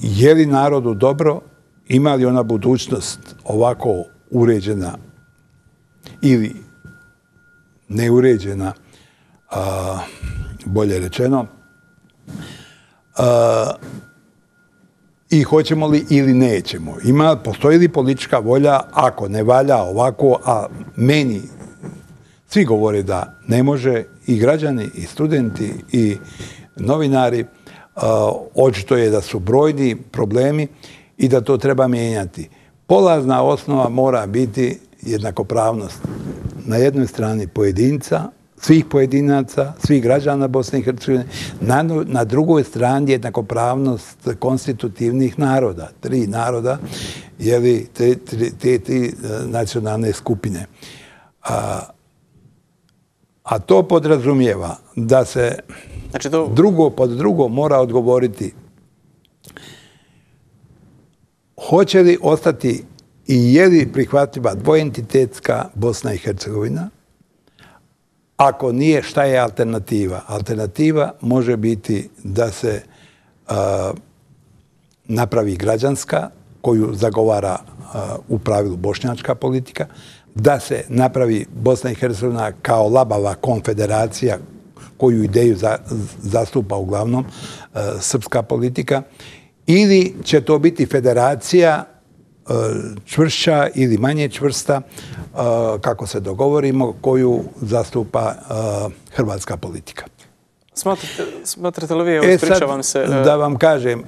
Je li narodu dobro, ima li ona budućnost ovako uređena ili neuređena, bolje rečeno, i hoćemo li ili nećemo. Postoji li politička volja, ako ne valja ovako, a meni svi govore da ne može, i građani, i studenti, i novinari, očito je da su brojni problemi i da to treba mijenjati. Polazna osnova mora biti jednakopravnost na jednoj strani pojedinca, svih pojedinaca, svih građana Bosne i Hercegovine, na drugoj strani jednakopravnost konstitutivnih naroda, 3 naroda, te nacionalne skupine. A to podrazumijeva da se drugo pod drugo mora odgovoriti hoće li ostati i je li prihvatljiva dvoentitetska Bosna i Hercegovina. Ako nije, šta je alternativa? Alternativa može biti da se napravi građanska, koju zagovara u pravilu bošnjačka politika, da se napravi Bosna i Hercegovina kao labava konfederacija, koju ideju zastupa uglavnom srpska politika, ili će to biti federacija čvršća ili manje čvrsta, kako se dogovorimo, koju zastupa hrvatska politika. Smatrate li vi, ispričavam se... Da vam kažem,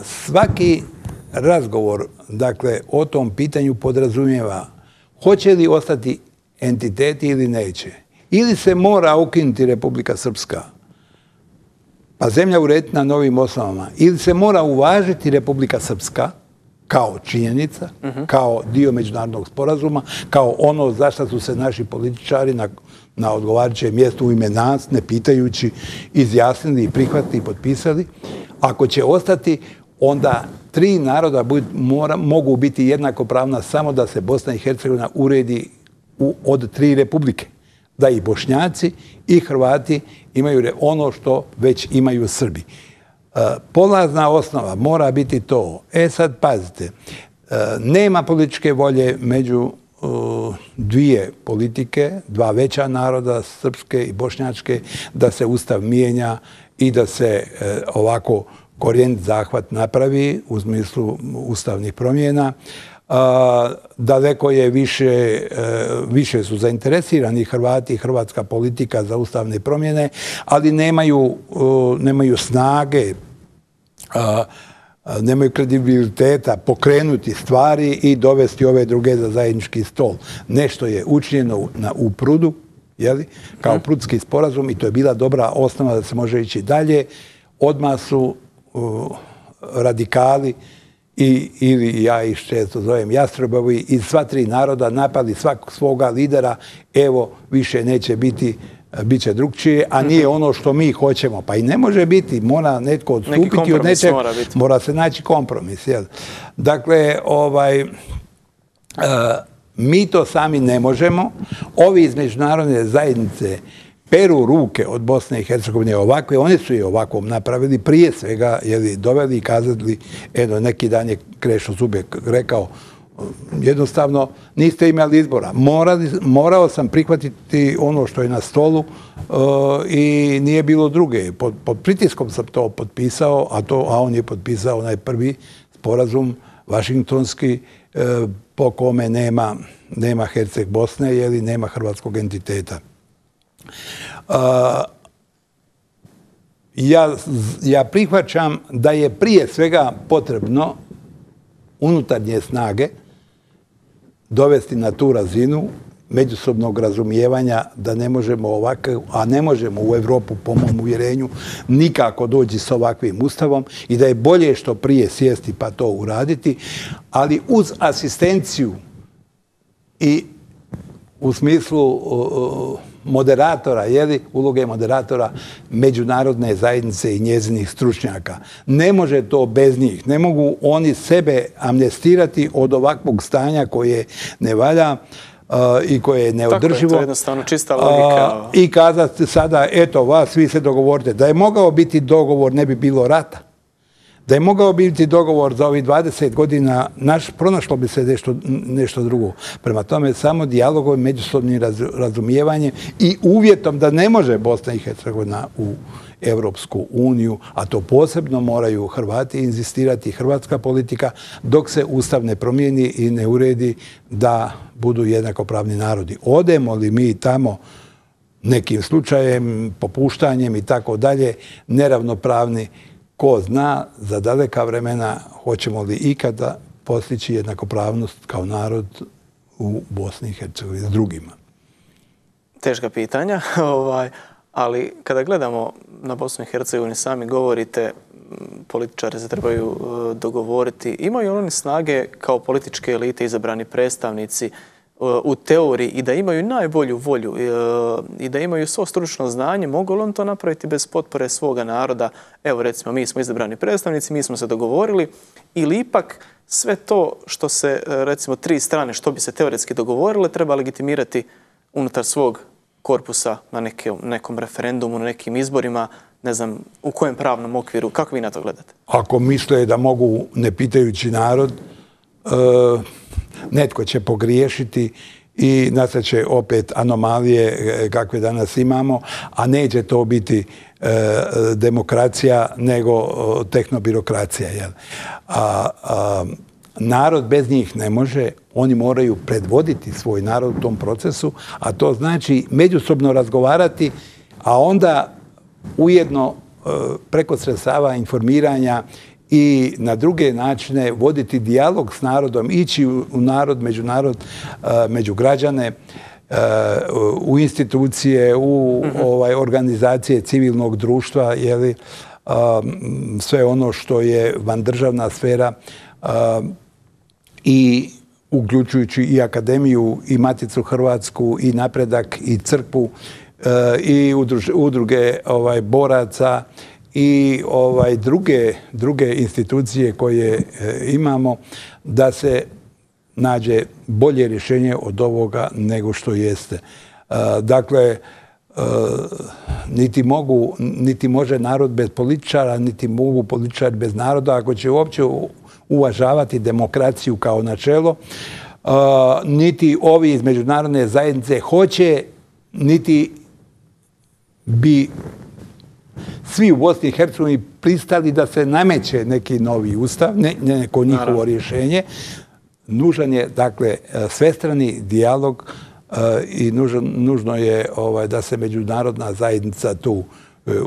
svaki razgovor, dakle, o tom pitanju podrazumijeva hoće li ostati entiteti ili neće. Ili se mora ukinuti Republika Srpska, pa zemlja urediti na novim osnovama, ili se mora uvažiti Republika Srpska kao činjenica, kao dio međunarodnog sporazuma, kao ono za što su se naši političari na odgovarajućem mjestu u ime nas, ne pitajući, izjasnili, prihvatili i potpisali. Ako će ostati, onda 3 naroda mogu biti jednakopravna samo da se Bosna i Hercegovina uredi od 3 republike. Da i Bošnjaci i Hrvati imaju ono što već imaju Srbi. Polazna osnova mora biti to. Sad pazite, nema političke volje među 2 politike, 2 veća naroda, srpske i bošnjačke, da se Ustav mijenja i da se ovako korijenit zahvat napravi u smislu ustavnih promjena. Daleko je više su zainteresirani Hrvati i hrvatska politika za ustavne promjene, ali nemaju snage, nemaju kredibiliteta pokrenuti stvari i dovesti ove druge za zajednički stol. Nešto je učinjeno u Prudu, kao Prudski sporazum, i to je bila dobra osnova da se može ići dalje. Odmah su radikali ili ja ih često zovem jastrebovi iz sva 3 naroda napali svakog svoga lidera, evo više neće biti, bit će drugčije, a nije ono što mi hoćemo. Pa i ne može biti, mora netko odstupiti od nečeg, mora se naći kompromis. Dakle, mi to sami ne možemo. Ovi iz međunarodne zajednice peru ruke od Bosne i Hercegovine ovakve, oni su je ovakvom napravili, prije svega doveli i kazali, neki dan je Krešo Zubek rekao, jednostavno niste imali izbora. Morao sam prihvatiti ono što je na stolu i nije bilo druge. Pod pritiskom sam to potpisao, a on je potpisao onaj prvi sporazum vašingtonski po kome nema Herceg Bosne, nema hrvatskog entiteta. Ja prihvaćam da je prije svega potrebno unutarnje snage dovesti na tu razinu međusobnog razumijevanja da ne možemo ovako, a ne možemo u Europu, po mom uvjerenju, nikako doći s ovakvim ustavom i da je bolje što prije sjesti pa to uraditi, ali uz asistenciju i u smislu moderatora, uloge moderatora međunarodne zajednice i njezinih stručnjaka. Ne može to bez njih. Ne mogu oni sebe amnestirati od ovakvog stanja koje ne valja i koje je neodrživo. Tako je, to je jednostavno čista logika. I kazati sada, eto, vas svi se dogovorite. Da je mogao biti dogovor, ne bi bilo rata. Da je mogao biti dogovor za ovih 20 godina, pronašlo bi se nešto drugo. Prema tome, samo dijalogom, međusobnim razumijevanjem i uvjetom da ne može Bosna i Hercegovina u Europsku uniju, a to posebno moraju Hrvati inzistirati, hrvatska politika, dok se Ustav ne promijeni i ne uredi da budu jednakopravni narodi. Odemo li mi tamo nekim slučajem, popuštanjem i tako dalje, neravnopravni, ko zna za daleka vremena hoćemo li ikada postići jednakopravnost kao narod u Bosni i Hercegovini s drugima? Teška pitanja, ali kada gledamo na Bosnu i Hercegovini, sami govorite, političari se trebaju dogovoriti. Imaju oni snage kao političke elite, izabrani predstavnici u teoriji i da imaju najbolju volju i da imaju svo stručno znanje, mogu li on to napraviti bez potpore svoga naroda? Evo recimo, mi smo izabrani predstavnici, mi smo se dogovorili, ili ipak sve to što se, recimo, 3 strane, što bi se teoretski dogovorile, treba legitimirati unutar svog korpusa na nekom referendumu, na nekim izborima, ne znam, u kojem pravnom okviru, kako vi na to gledate? Ako misle da mogu, ne pitajući narod, netko će pogriješiti i nastat će opet anomalije kakve danas imamo, a neće to biti demokracija nego tehnobirokracija. Narod bez njih ne može, oni moraju predvoditi svoj narod u tom procesu, a to znači međusobno razgovarati, a onda ujedno preko sredstava informiranja i na druge načine voditi dijalog s narodom, ići u narod, među građane, u institucije, u organizacije civilnog društva, sve ono što je vandržavna sfera, i uključujući i akademiju, i Maticu Hrvatsku, i Napredak, i crkvu, i udruge boraca, i druge institucije koje imamo, da se nađe bolje rješenje od ovoga nego što jeste. Dakle, niti može narod bez političara, niti mogu političari bez naroda. Ako će uopće uvažavati demokraciju kao načelo, niti ovi iz međunarodne zajednice hoće, niti bi svi u Bosni i Hercegovini pristali da se nameće neki novi ustav, neko njihovo rješenje. Nužan je, dakle, svestrani dijalog i nužno je da se međunarodna zajednica tu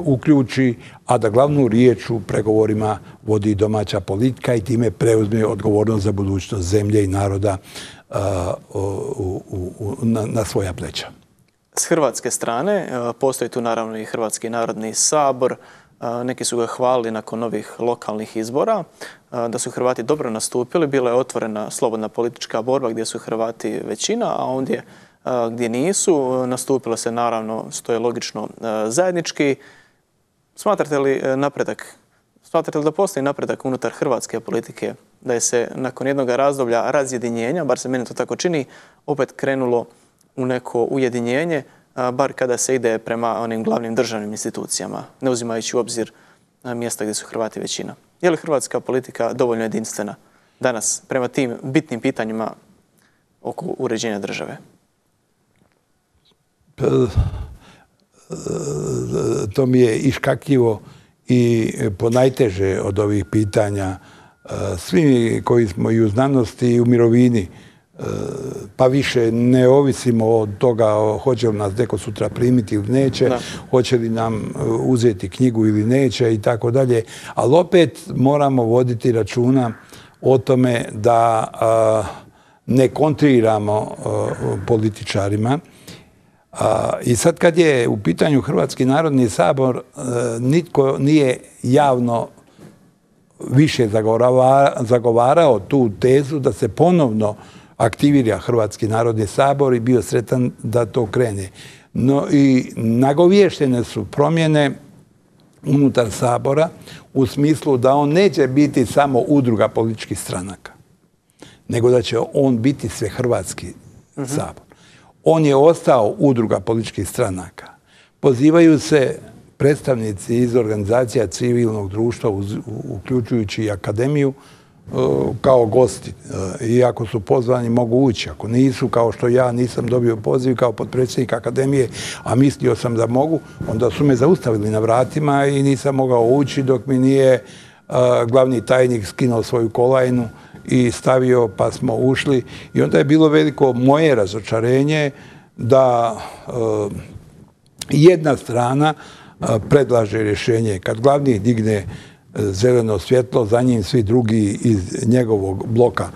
uključi, a da glavnu riječ u pregovorima vodi domaća politika i time preuzme odgovornost za budućnost zemlje i naroda na svoja pleća. S hrvatske strane postoji tu naravno i Hrvatski narodni sabor. Neki su ga hvalili nakon novih lokalnih izbora, da su Hrvati dobro nastupili. Bila je otvorena slobodna politička borba gdje su Hrvati većina, a ondje gdje nisu, nastupilo se naravno, što je logično, zajednički. Smatrate li da postoji napredak unutar hrvatske politike, da je se nakon jednog razdoblja razjedinjenja, bar se meni to tako čini, opet krenulo u neko ujedinjenje, bar kada se ide prema onim glavnim državnim institucijama, ne uzimajući u obzir mjesta gdje su Hrvati većina? Je li hrvatska politika dovoljno jedinstvena danas prema tim bitnim pitanjima oko uređenja države? To mi je iškakljivo i ponajteže od ovih pitanja. Svi koji smo i u znanosti i u mirovini, pa više ne ovisimo od toga hoće li nas neko sutra primiti ili neće, hoće li nam uzeti knjigu ili neće i tako dalje. Ali opet moramo voditi računa o tome da ne kontriramo političarima. I sad kad je u pitanju Hrvatski narodni sabor, nitko nije javno više zagovarao tu tezu da se ponovno aktivira Hrvatski narodni sabor i bio sretan da to krene. No i nagovještene su promjene unutar sabora u smislu da on neće biti samo udruga političkih stranaka, nego da će on biti Svehrvatski sabor. On je ostao udruga političkih stranaka. Pozivaju se predstavnici iz organizacija civilnog društva, uključujući i akademiju, kao gosti. I ako su pozvani, mogu ući. Ako nisu, kao što ja nisam dobio poziv kao potpredsjednik akademije, a mislio sam da mogu, onda su me zaustavili na vratima i nisam mogao ući dok mi nije glavni tajnik skinuo svoju kolajnu i stavio, pa smo ušli. I onda je bilo veliko moje razočarenje da jedna strana predlaže rješenje. Kad glavni digne zeleno svjetlo, za njim svi drugi iz njegovog bloka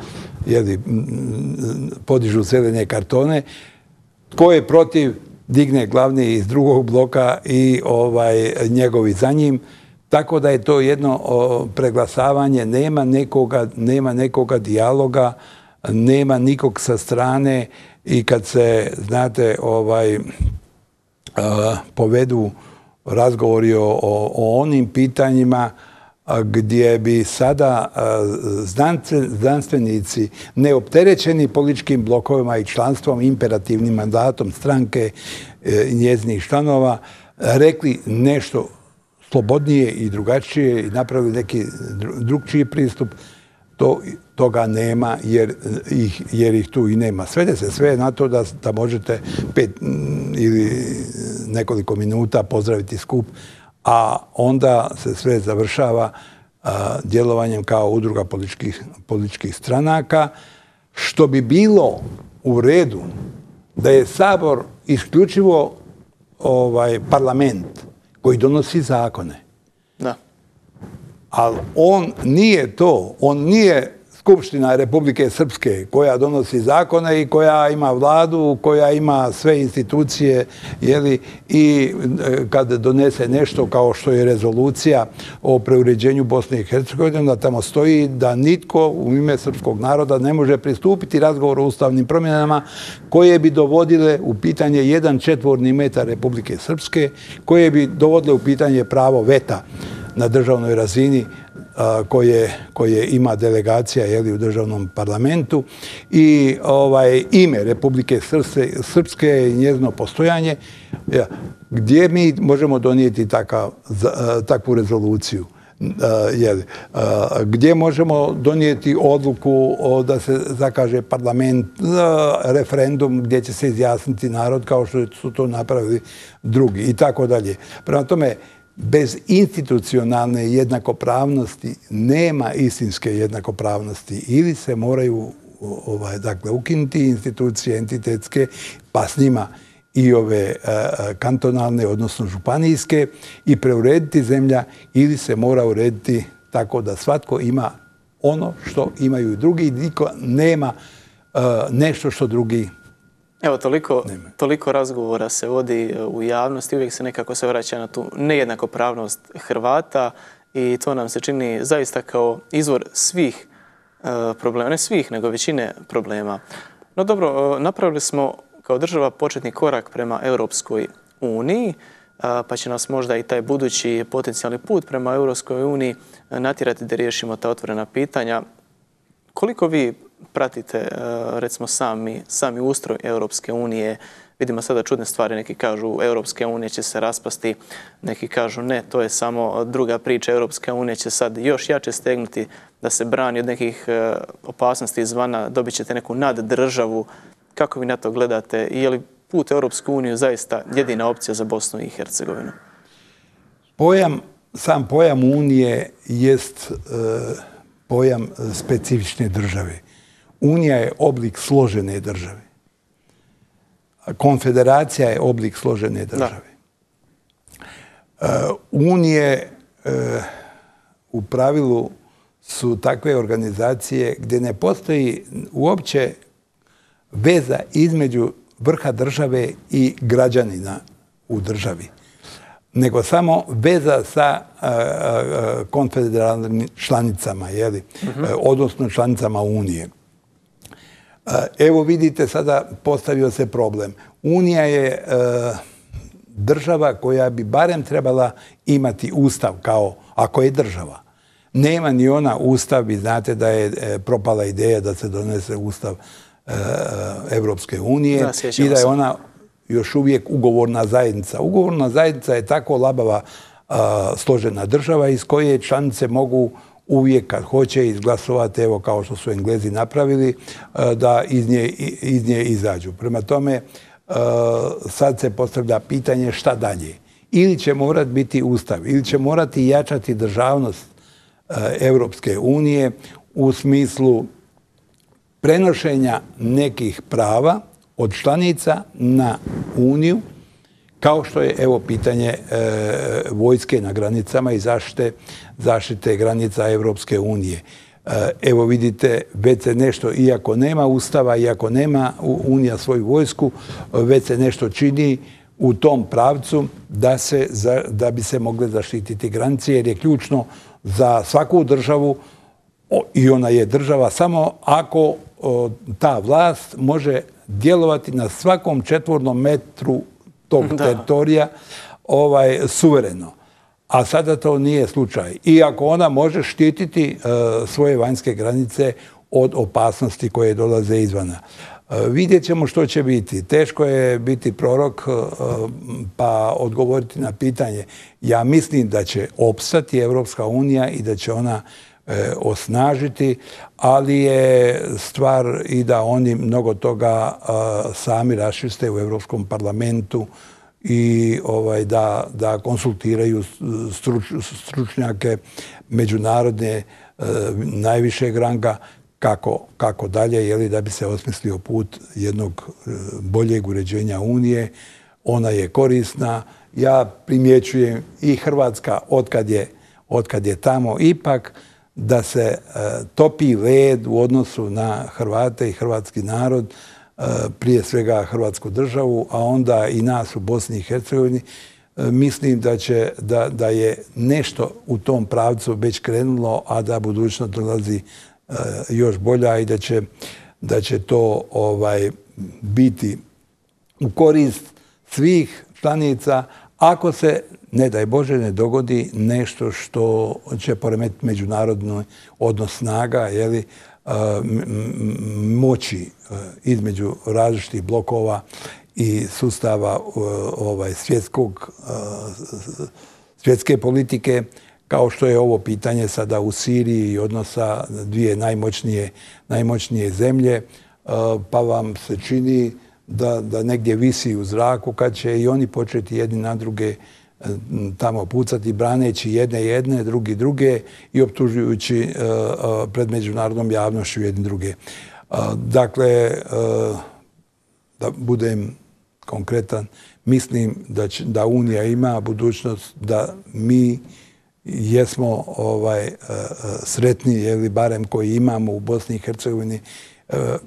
podižu zelene kartone. Tko je protiv, digne glavni iz drugog bloka i njegovi za njim. Tako da je to jedno preglasavanje, nema nekoga dijaloga, nema nikog sa strane i kad se, znate, povedu razgovori o onim pitanjima gdje bi sada znanstvenici neopterećeni političkim blokovima i članstvom, imperativnim mandatom stranke i njezinih članova rekli nešto slobodnije i drugačije i napravili neki drugčiji pristup, toga nema jer ih tu i nema. Svede se sve na to da možete 5 ili nekoliko minuta pozdraviti skup, a onda se sve završava djelovanjem kao udruga političkih stranaka, što bi bilo u redu da je Sabor isključivo parlament koji donosi zakone. Da. Ali on nije to. On nije Skupština Republike Srpske koja donosi zakone i koja ima vladu, koja ima sve institucije, i kad donese nešto kao što je rezolucija o preuređenju Bosne i Hercegovine, da tamo stoji da nitko u ime srpskog naroda ne može pristupiti razgovoru o ustavnim promjenama koje bi dovodile u pitanje 1 četvorni metar Republike Srpske, koje bi dovodile u pitanje pravo veta na državnoj razini koje ima delegacija u državnom parlamentu i ime Republike Srpske i njezino postojanje, gdje mi možemo donijeti takvu rezoluciju. Gdje možemo donijeti odluku da se zakaže parlament, referendum gdje će se izjasniti narod kao što su to napravili drugi i tako dalje. Prema tome, bez institucionalne jednakopravnosti nema istinske jednakopravnosti. Ili se moraju ukinuti institucije entitetske, pa s njima i ove kantonalne, odnosno županijske, i preurediti zemlja, ili se mora urediti tako da svatko ima ono što imaju i drugi i niko nema nešto što drugi. Evo, toliko razgovora se vodi u javnosti, uvijek se nekako se vraća na tu nejednakopravnost Hrvata i to nam se čini zaista kao izvor svih problema, ne svih, nego većine problema. No dobro, napravili smo kao država početni korak prema Europskoj uniji, pa će nas možda i taj budući potencijalni put prema Europskoj uniji natjerati da riješimo ta otvorena pitanja. Koliko vi pratite, recimo, sami ustroj Europske unije? Vidimo sada čudne stvari, neki kažu Europske unije će se raspasti, neki kažu ne, to je samo druga priča, Europska unija će sad još jače stegnuti da se brani od nekih opasnosti izvana, dobit ćete neku naddržavu. Kako vi na to gledate i je li put Europsku uniju zaista jedina opcija za Bosnu i Hercegovinu? Sam pojam Unije jest pojam specifične države. Unija je oblik složene države. Konfederacija je oblik složene države. Unije u pravilu su takve organizacije gdje ne postoji uopće veza između vrha države i građanina u državi, nego samo veza sa konfederalnim članicama, odnosno članicama Unije. Evo vidite, sada postavio se problem. Unija je država koja bi barem trebala imati ustav kao, ako je država. Nema ni ona ustav, vi znate da je propala ideja da se donese ustav Evropske unije i da je ona još uvijek ugovorna zajednica. Ugovorna zajednica je tako labava složena država iz koje članice mogu uvijek kad hoće izglasovati, evo kao što su Englezi napravili, da iz nje izađu. Prema tome, sad se postavlja pitanje šta dalje. Ili će morati biti ustav, ili će morati jačati državnost Evropske unije u smislu prenošenja nekih prava od članica na Uniju, kao što je, evo, pitanje vojske na granicama i zaštite granica Evropske unije. Evo vidite, već se nešto, iako nema ustava, iako nema Unija svoju vojsku, već se nešto čini u tom pravcu da bi se mogle zaštititi granice, jer je ključno za svaku državu, i ona je država samo ako ta vlast može djelovati na svakom četvornom metru tog teritorija suvereno. A sada to nije slučaj. Iako ona može štititi svoje vanjske granice od opasnosti koje dolaze izvana. Vidjet ćemo što će biti. Teško je biti prorok pa odgovoriti na pitanje. Ja mislim da će opstati Evropska unija i da će ona osnažiti, ali je stvar i da oni mnogo toga sami raščiste u Evropskom parlamentu i da konsultiraju stručnjake međunarodne najvišeg ranga kako dalje, da bi se osmislio put jednog boljeg uređenja Unije. Ona je korisna. Ja primjećujem i Hrvatska, otkad je otkad je tamo, ipak da se topi led u odnosu na Hrvate i hrvatski narod, prije svega Hrvatsku državu, a onda i nas u Bosni i Hercegovini. Mislim da je nešto u tom pravcu već krenulo, a da budućnost dolazi još bolja i da će to biti u korist svih članica, ako se, ne daj Bože, ne dogodi nešto što će poremetiti međunarodni odnos snaga, moći između različitih blokova i sustava svjetske politike, kao što je ovo pitanje sada u Siriji i odnosa dvije najmoćnije zemlje, pa vam se čini da negdje visi u zraku kad će i oni početi jedni na druge tamo pucati, braneći jedne, druge i optužujući pred međunarodnom javnošću jedni druge. Dakle, da budem konkretan, mislim da Unija ima budućnost, da mi jesmo sretni, barem koji imamo u Bosni i Hercegovini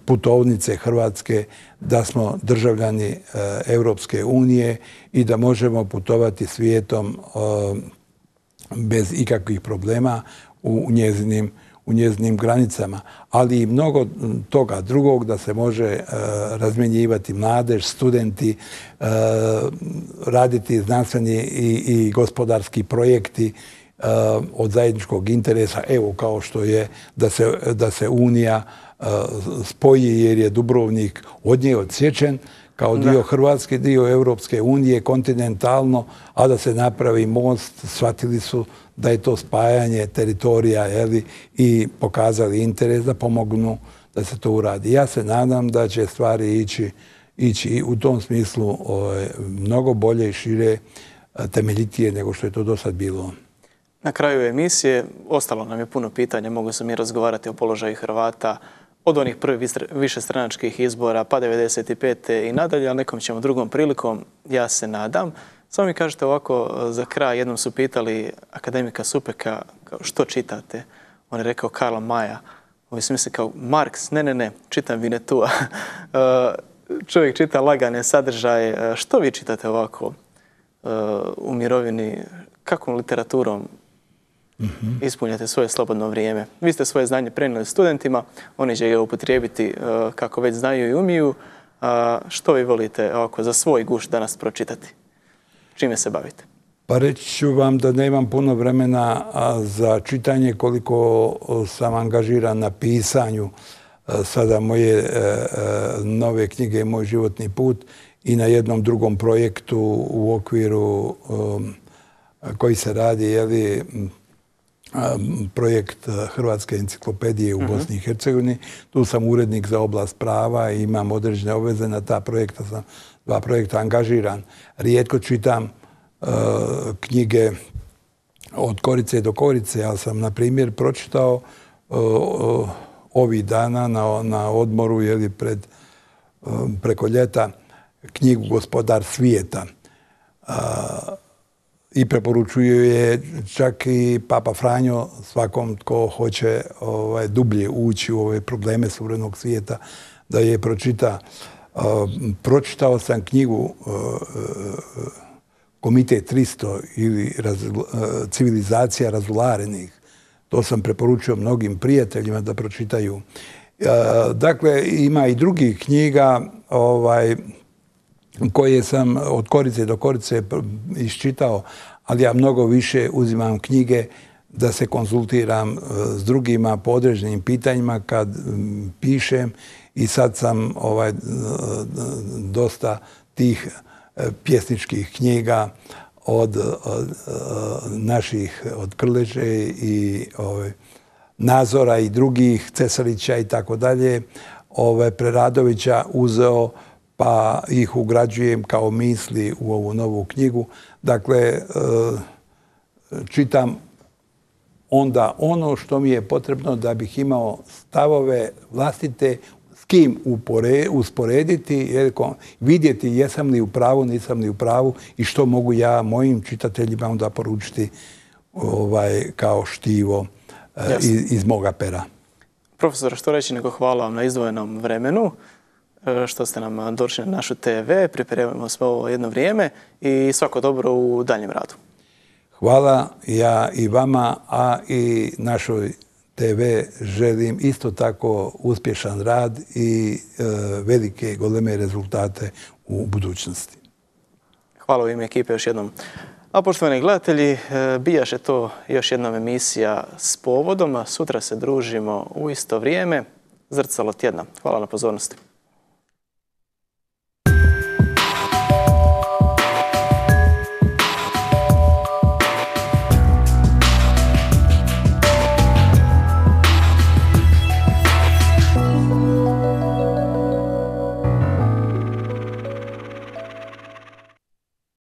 putovnice Hrvatske, da smo državljani Europske unije i da možemo putovati svijetom bez ikakvih problema u njezinim granicama. Ali i mnogo toga drugog, da se može razmjenjivati mladež, studenti, raditi znanstveni i gospodarski projekti od zajedničkog interesa, evo kao što je da se Unija spoji, jer je Dubrovnik od nje odsječen kao dio Hrvatske, dio Europske unije, kontinentalno, a da se napravi most. Shvatili su da je to spajanje teritorija i pokazali interes da pomognu da se to uradi. Ja se nadam da će stvari ići u tom smislu mnogo bolje i šire, temeljitije nego što je to do sad bilo. Na kraju emisije ostalo nam je puno pitanja, mogu se mi razgovarati o položaju Hrvata od onih prvih višestranačkih izbora pa 95. i nadalje, ali nekom ćemo drugom prilikom, ja se nadam. Samo mi kažete ovako za kraj, jednom su pitali akademika Supeka što čitate. On je rekao Karla Maja. Ovi su misli kao Marks, ne, čitam Vinetua. Čovjek čita lagane sadržaje. Što vi čitate ovako u mirovini? Kakvom literaturom ispunjate svoje slobodno vrijeme? Vi ste svoje znanje prenijeli studentima, oni će ga upotrijebiti kako već znaju i umiju. Što vi volite ovako za svoj guš danas pročitati? Čime se bavite? Pa reći ću vam da nemam puno vremena za čitanje, koliko sam angažiran na pisanju sada moje nove knjige Moj životni put i na jednom drugom projektu u okviru koji se radi, projekt Hrvatske enciklopedije u Bosni i Hercegovini. Tu sam urednik za oblast prava i imam određene obveze na ta projekta. Sam dva projekta angažiran. Rijetko čitam knjige od korice do korice, ali sam, na primjer, pročitao ovih dana na odmoru preko ljeta knjigu Gospodar svijeta. I preporučuju je čak i Papa Franjo svakom tko hoće dublje ući u ove probleme suvremenog svijeta da je pročita. Pročitao sam knjigu Komitet 300 ili Civilizacija razularenih. To sam preporučio mnogim prijateljima da pročitaju. Dakle, ima i drugih knjiga koje sam od korice do korice iščitao, ali ja mnogo više uzimam knjige da se konzultiram s drugima po određenim pitanjima kad pišem i sad sam dosta tih pjesničkih knjiga od naših, od Krleže i Nazora i drugih, Cesarića i tako dalje, Preradovića uzeo pa ih ugrađujem kao misli u ovu novu knjigu. Dakle, čitam onda ono što mi je potrebno da bih imao stavove vlastite, s kim usporediti, vidjeti jesam li u pravu, nisam li u pravu i što mogu ja mojim čitateljima onda poručiti kao štivo iz moga pera. Profesor, što reći nego hvala vam na izdvojenom vremenu, što ste nam došli na našu TV, pripremamo sve ovo jedno vrijeme i svako dobro u daljem radu. Hvala ja i vama, a i našoj TV želim isto tako uspješan rad i velike goleme rezultate u budućnosti. Hvala u ime ekipe još jednom. A poštovani gledatelji, bijaše to još jedna emisija s povodom. Sutra se družimo u isto vrijeme. Zrcalo tjedna. Hvala na pozornosti.